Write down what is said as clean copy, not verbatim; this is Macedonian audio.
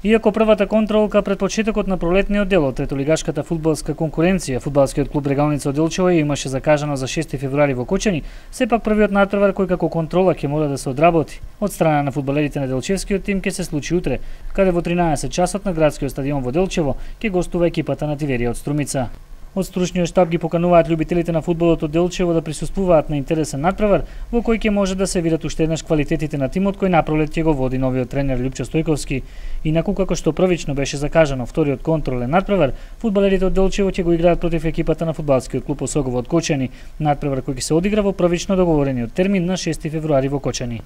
Иако првата контролка пред почетокот на пролетниот дел од третолигашката фудбалска конкуренција, фудбалскиот клуб Регалница од Делчево имаше закажано за 6 февруари во Кочани, сепак првиот натпревар кој како контрола ќе мора да се одработи од страна на фудбалерите на Делчевскиот тим ќе се случи утре, каде во 13 часот на градскиот стадион во Делчево ќе гостува екипата на Тиверија од Струмица. Од стручниот штаб ги покануваат љубителите на фудбалот од Делчево да присуствуваат на интересен натпревар во кој ќе може да се видат уште еднаш квалитетите на тимот кој напролет ќе го води новиот тренер Љупчо Стојковски. Инаку како што првично беше закажано вториот контролен натпревар, фудбалерите од Делчево ќе го играат против екипата на фудбалскиот клуб Осогово од Кочани, натпревар кој ќе се одигра во првично договорениот термин на 6 февруари во Кочани.